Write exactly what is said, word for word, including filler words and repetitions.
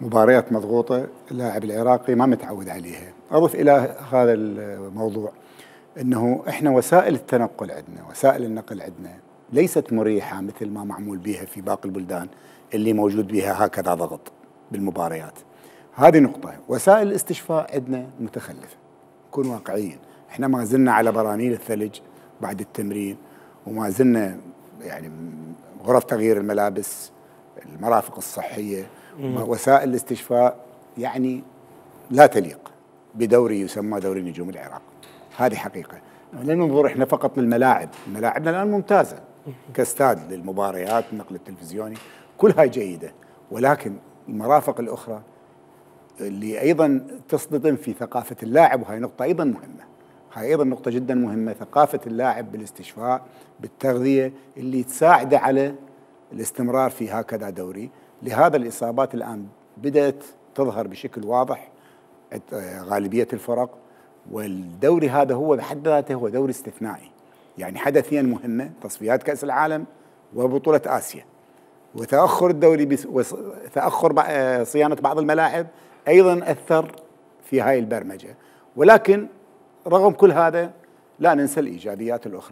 مباريات مضغوطة اللاعب العراقي ما متعود عليها. أضف إلى هذا الموضوع أنه إحنا وسائل التنقل عندنا، وسائل النقل عندنا ليست مريحة مثل ما معمول بها في باقي البلدان اللي موجود بها هكذا ضغط بالمباريات. هذه نقطة. وسائل الاستشفاء عندنا متخلفة، نكون واقعيين. إحنا ما زلنا على برانيل الثلج بعد التمرين، وما زلنا يعني غرف تغيير الملابس، المرافق الصحية، وسائل الاستشفاء يعني لا تليق بدوري يسمى دوري نجوم العراق. هذه حقيقة. لا ننظر احنا فقط للملاعب، ملاعبنا الآن ممتازة كاستاد للمباريات، النقل التلفزيوني، كلها جيدة، ولكن المرافق الأخرى اللي أيضا تصطدم في ثقافة اللاعب، وهي نقطة أيضا مهمة. هاي أيضا نقطة جدا مهمة، ثقافة اللاعب بالاستشفاء بالتغذية اللي تساعده على الاستمرار في هكذا دوري. لهذا الإصابات الآن بدأت تظهر بشكل واضح غالبية الفرق، والدوري هذا هو بحد ذاته هو دوري استثنائي، يعني حدثين مهمة، تصفيات كأس العالم وبطولة آسيا، وتأخر الدوري بس وتأخر صيانة بعض الملاعب أيضا أثر في هاي البرمجة. ولكن رغم كل هذا لا ننسى الإيجابيات الأخرى.